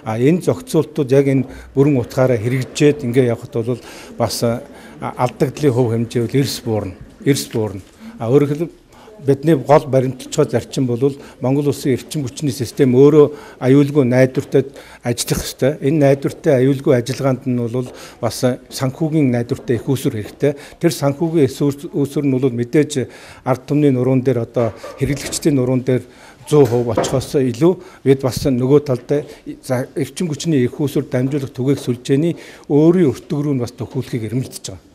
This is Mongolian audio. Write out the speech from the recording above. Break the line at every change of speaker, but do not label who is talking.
Энэ зохицуултууд яг энэ бүрэн утгаараа хэрэгжээд ингээ явхад бол бас алдагдлын хөв хэмжээ бол эрс буурна. Өөрөөр хэлбэл бидний гол баримталчгаа зарчим бол Монгол улсын эрчим хүчний систем өөрөө аюулгүй найдвартай ажиллах ёстой. Энэ найдвартай аюулгүй ажиллагаанд нь бол бас санхүүгийн найдвартай их үүсвэр хэрэгтэй. Тэр санхүүгийн үүсвэр нь бол мэдээж ард түмний нуруунд дээр одоо хэрэглэгчдийн нуруунд дээр 100% очихоос илүү бид бас нөгөө талдаа эрчим хүчний их үүсвэр дамжуулах түгээх сүлжээний өөрийн өртөг рүү нь бас төхүүлэхийг эрмэлдэж байгаа.